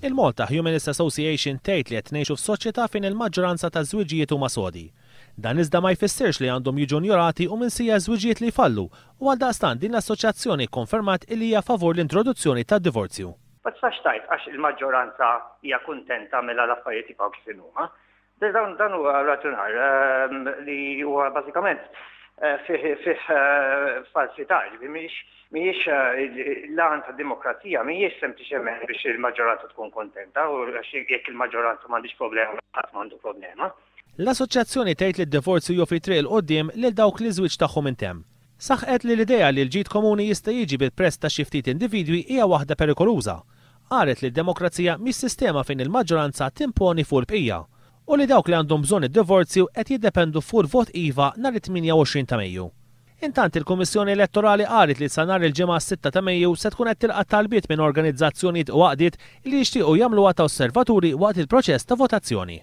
Il-Malta Humanist Association tgħid li qed ngħixu f'soċjetà fejn il-maġġoranza taż-żwiġijiet huma sodi. Dan iżda ma jfissirx li għandhom jiġu njorati u minsija ż-żwiġijiet li jfallu u għaldaqstant din l-assoċjazzjoni kkonfermat illi hija favur l-introduzzjoni tad-divorzju. Ma tistax tgħid għax il-maġġoranza hija kuntenta mela l-affarijiet jibqgħu kif inhuma. Dan dan huwa raġunar li huwa bażikament fih fih falsità, ġifieri mhijiex mhijiex l-għan tad-demokrazija mhijiex sempliċement biex il-maġġoranza tkun kuntenta u għax jekk il-maġġoranza m'għandhiex problema ħadd m'għandu problema. L-assoċjazzjoni tgħid li d-divorzju joffri triq 'il quddiem lil dawk li ż-żwieġ tagħhom intemm. Saħqet li l-idea li l-ġid komuni jista' jiġi bil-prezz ta' xi ftit individwi hija waħda perikoluża. Qalet li d-demokrazija mhix sistema fejn il-maġġoranza timponi fuq il-bqija. U li dawk li għandhom bżonn id-divorzju qed jiddependu fuq il-vot iva nhar it-28 ta' Mejju. Intant il-Kummissjoni Elettorali qalet li sa nhar il-Ġimgħa s-sitta ta' Mejju se tkun qed tilqa' talbiet minn organizzazzjonijiet u għaqdiet li jixtiequ jagħmluha ta' osservaturi waqt il-proċess ta' votazzjoni.